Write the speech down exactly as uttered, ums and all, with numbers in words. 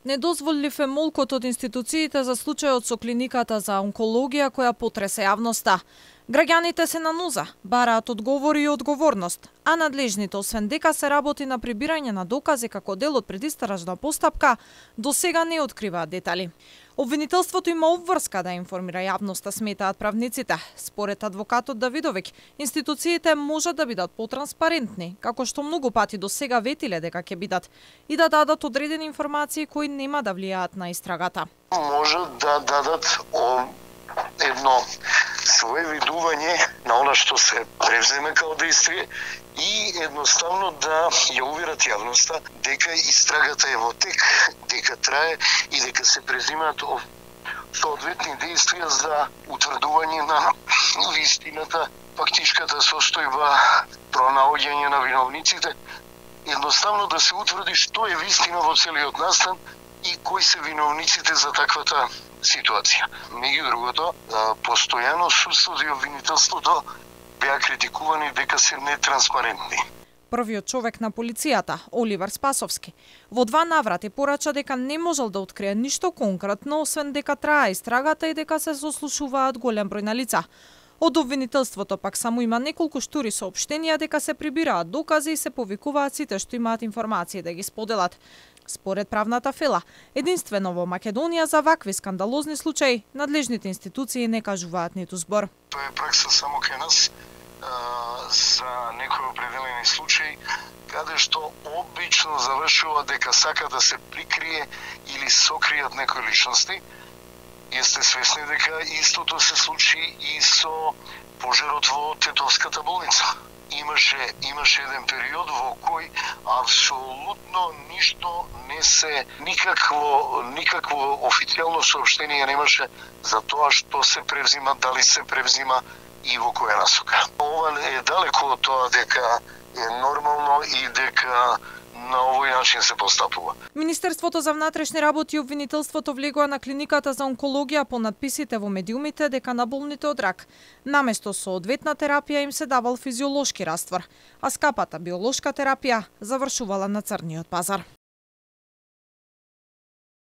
Недозволив е молкот од институциите за случајот со клиниката за онкологија која потресе јавноста. Граѓаните се на ноза, бараат одговори и одговорност, а надлежните, освен дека се работи на прибирање на докази како дел од предистражна постапка, до сега не откриваат детали. Обвинителството има обврска да информира јавноста, сметаат правниците. Според адвокатот Давидовиќ, институциите можат да бидат потранспарентни, како што многу пати до сега ветиле дека ќе бидат, и да дадат одредени информации кои нема да влијаат на истрагата. Можат да дадат едно свое видување на она што се превземе као действие и едноставно да ја уверат јавноста дека истрагата е во тек, дека трае и дека се презимаат соодветни действија за утврдување на вистината, фактичката состојба, пронаоѓање на виновниците, едноставно да се утврди што е вистина во целиот настан и кои се виновниците за таквата ситуација. Меѓу другото, постојано судството и обвинителството беа критикувани дека се нетранспарентни. Првиот човек на полицијата, Оливер Спасовски, во два наврати порача дека не можел да открие ништо конкретно, освен дека трае истрагата и дека се сослушуваат голем број на лица. Од обвинителството пак само има неколку штури соопштенија дека се прибираат докази и се повикуваат сите што имаат информации да ги споделат. Според правната фела, единствено во Македонија за вакви скандалозни случаи, надлежните институции не кажуваат ниту збор. Тоа е пракса само кај нас а, за некои определени случаи, каде што обично завршува дека сака да се прикрие или сокријат некои личности. Јесте свесни дека истото се случи и со пожарот во Тетовската болница. Имаше имаше еден период во кој апсолутно ништо не се никакво никакво официјално соопштение немаше за тоа што се превзима, дали се превзима и во која насока. Ова е далеко од тоа дека е нормално и дека на овој начин се постапува. Министерството за внатрешни работи и обвинителството влегоа на клиниката за онкологија по надписите во медиумите дека на болните од рак наместо соодветна терапија им се давал физиолошки раствор, а скапата биолошка терапија завршувала на црниот пазар.